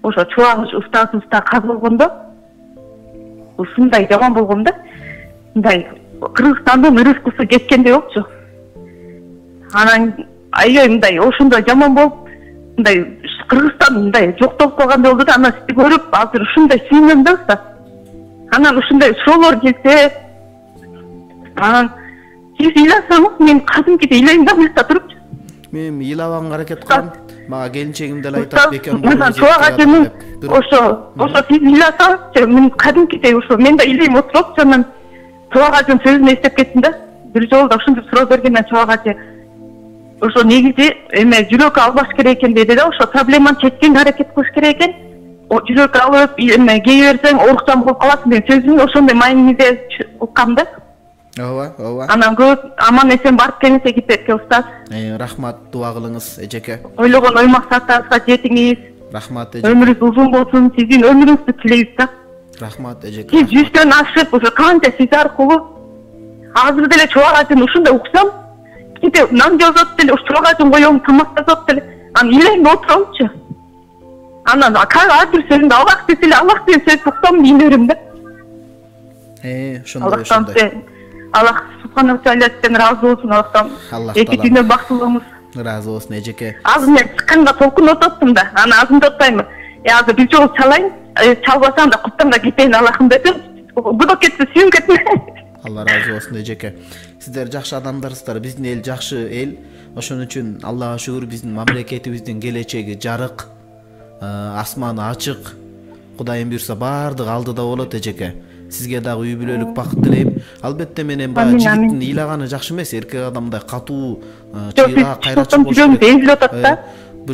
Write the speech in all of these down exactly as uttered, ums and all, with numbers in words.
ошо чубак устаасыбызда каз болгондо ушундай жаман болгон да. Мындай Кыргызстандын ырыскысы кеткендей болчу. Анан аябай мындай ошондой жаман болуп, мындай Кыргызстан мындай жоктолуп калгандай болду да. Анан сизди көрүп, азыр ушундай сүйүнөм да уста. Анан ушундай шоолор келсе, анан сиз ыйласаңыз, мен кадимкидей ыйлайм да мына туруп. Мен ыйлабаганга аракет кылам. Мага келинчегим деле айтат, бекем болду. Чубак ажымын ошо, ошо сиз ыйласаңыз, мен кадимкидей ошо мен да ыйлайм отуруп, анан чубак ажым сөзүн эстеп кеттим да. Бир жолу да ушинтип суроо бергенден чубак ажы ошо негизи эме жүрөк албаш керек экен деди да. Ошо проблеманы чечкенге аракет кылыш керек экен. Жүрөк алып, эме кее берсең оорукчан болуп каласың деген сөзүн ошондой мааниде уккам да. Ооба, ооба. Анан көп аман эсен барып келиңиз Египетке устаз. Рахмат, дуа кылыңыз эжеке. Ойлогон ой максаттарыңызга жетиңиз. Рахмат эжеке. Өмүрүңүз узун болсун, сиздин өмүрүңүздү тилейбиз да. Рахмат эжеке. Сиз жүздөн ашып, ошо канча сиз аркылуу азыр деле чубак ажын ушундай уксам, ките нан жазат деле, ушу чубак ажын коем, тамак жазат деле, анан ыйлайм да отурамчы. Анан ар бир сөзүндө Аллах десе эле Аллах деген сөз уктам дейин берем да. Э, ошондой ошондой. Аллах субхана тааладан ыраазы болсун Аллахтан. Эки дүйнө бактылуңуз. Ыраазы болсун эжеке. Азыр мен чыкканга толкунуп ататтым да. Анан азырынтып атпайм. Э, азыр бир жолу чалайын, чалбасам да куттан да кетейин Аллахым деп. Будок кетсе сүйүн кетме. Алла ыраазы болсун эжеке. Сиздер жакшы адамдарсыздар. Биздин эл жакшы эл. Ошон үчүн Аллага шүгүр биздин мамлекетибиздин келечеги жарык, асманы ачык. Кудайым буйрса баардыгы алдыда болот эжеке. Сизге дагы үй бүлөлүк бакыт тилейм. Албетте менен баягы жигиттин ыйлаганы жакшы эмес, эркек адамдай катуу, чыйга кайрачы болуш керек. Эзилип атат да.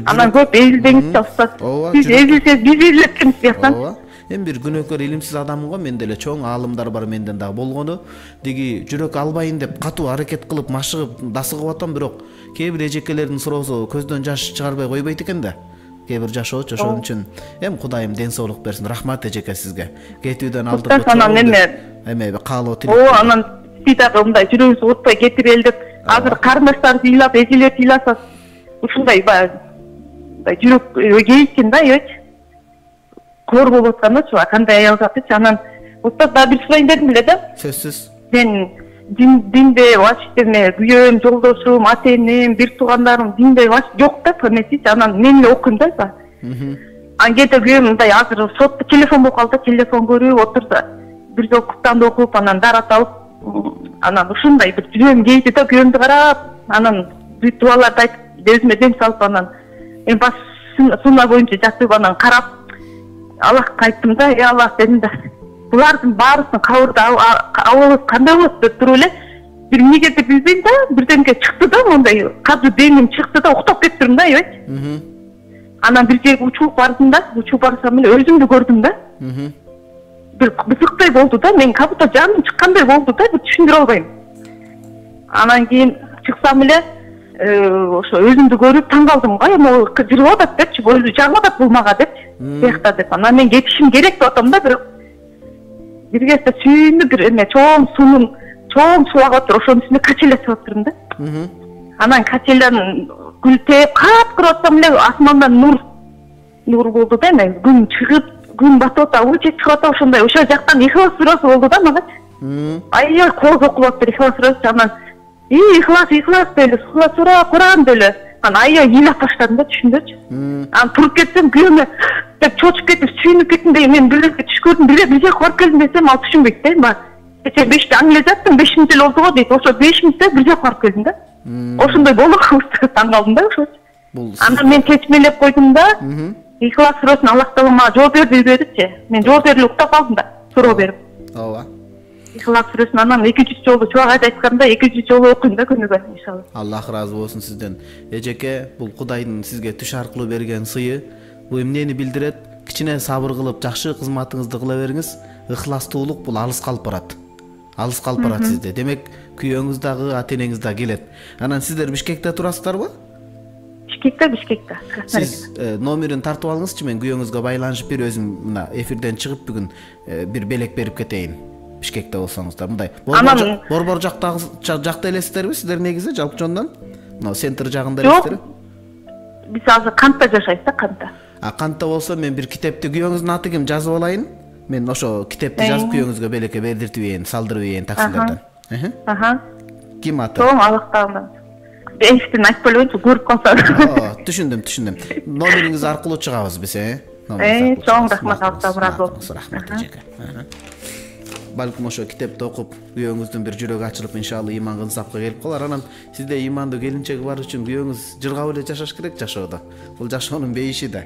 Анан көп эзилбеңиз да устаз. Биз эзилсек, биз эзилип кетебиз бияктан. Ооба. Эми бир күнөөкөр илимсиз адаммын го, мен деле чоң аалымдар бар менден дагы болгону. Диги жүрөк албайын деп катуу аракет кылып, машыгып, дасыгып атам, бирок кээ бир эжекелердин суроосу көздөн жаш чыгарбай койбойт экен да. Кээ бир жашоочу, ошон үчүн эми Кудайым ден соолук берсин. Рахмат эжеке сизге. Кетүүдөн алдырып анан эме эме каалоо тилеп. О, анан сиз дагы мындай жүрөгүңүз оотпой кетип элдеп, азыр карындаштарыңыз ыйлап, эжелер ыйласа, ушундай баягы жүрөк кейишкен да, эч. Кор болуп атканда чуба кандай аял затычы. Анан устаз дагы бир сурайын дедим эле да. Сөзсүз. Мен динде вообще эме күйөөм, жолдошум, ата энем, бир туугандарым динде жок да, эмесичи. Анан мен эле окуйм да. Анан кээде күйөөм мындай азыр сотто телефон болуп калды, телефон көрүп отурду. Бир жол Куранды окуп, анан дарат алып, анан ушундай бир жүрөгүм кейди да, күйөөмдү карап, анан бүт дуаларды айтып, өзүмө дем салып, анан эми баш сунна боюнча жатып, анан карап Аллахка айттым да, э Аллах дедим да. Булардын баарысын кабырда абыбыз кандай болот деп туруп эле бир эмнеге билбейм да, бирденге чыкты да, мондай кадыр деним чыкты да, уктап кеттим да, эбети. Анан бир жерге учуп бардым да, учуп барсам эле өзүмдү көрдүм да. Бир бызыктай болду да, мен как будто жаным чыккандай болду да, бир түшүндүрө албайм. Анан кийин чыксам эле ошо өзүмдү көрүп таң калдым го, могу жырып атат депчи, өзү жагып атат бул мага депчи. Биякта деп. Анан мен кетишим керек деп атам да, бирок бир кезде сүйүнүп бир эме чоң суунун чоң суу агып туруп, ошонун үстүнө качеля чыгып турдум да. Анан качеляны күлтеп, капкырып атсам эле асмандан нур нур болду да, эме күн чыгып, күн батып атат, ой чыгып атат, ошондой ошол жактан Ихлас сурасы болду да магачы. Аябай кооз окуп атты Ихлас сурасы. Анан и Ихлас, Ихлас деле, сура Куран деле. Анан аябай ыйлап баштадым да, түшүндүрчү. Анан туруп кетсем күйөөмө деп чочуп кетип, сүйүнүп кеттим да, мен бир нерсе түш көрдүм, бир бир жака барып келдим десем, ал түшүнбөйт да, эми. Кече беште аң эле жаттым, беш мүнөт эле болду го дейт. Ошо беш мүнөттө бир жака барып келдим да. Ошондой болду, таң калдым да ошо. Анан мен чечмелеп койдум да. Ихлас сурасын Аллах таала мага жооп берди дедичи. Мен жооп берип уктап калдым да, суроо берип. Ооба. Ихлас сурасын анан эки жүз жолу чубак айтканда эки жүз жолу окуйм да күнүгө иншалла. Аллах ыраазы болсун сизден. Эжеке, бул Кудайдын сизге түш аркылуу берген сыйы. Бул эмнени билдирет? Кичине сабыр кылып, жакшы кызматыңызды кыла бериңиз. Ыхластуулук бул алыс калып барат. Алыс калып барат сизде. Демек, күйөөңүз дагы, ата энеңиз дагы келет. Анан сиздер Бишкекте турасыздарбы? Бишкекте, Бишкекте. Сиз номерин тартып алыңызчы, мен күйөөңүзгө байланышып бир өзүм мына эфирден чыгып бүгүн бир белек берип кетейин. Бишкекте болсоңуздар, мындай. Борбор жактагы жакта элесиздерби сиздер негизи жалпы жондан? Мына центр жагында элесиздерби? Биз азыр Кантта жашайбыз да, Кантта. А кантип болсо мен бир китепти күйөөңүздүн аты ким жазып алайын. Мен ошо китепти жазып күйөөңүзгө белекке бердиртип ийин, салдырып ийин таксилерден. Аха. Ким аты? Чоң алактаган. Эшиктен айтып койбойчу, көрүп калса. Түшүндүм, түшүндүм. Номериңиз аркылуу чыгабыз биз, э? Э, чоң рахмат, абдан болду. Рахмат эжеке. Балким ошо китепти окуп, күйөөңүздүн бир жүрөгү ачылып, иншалла ыйманга ынсапка келип калар. Анан сизде ыймандуу келинчеги бар үчүн күйөөңүз жыргап эле жашаш керек жашоодо. Бул жашоонун бейиши да.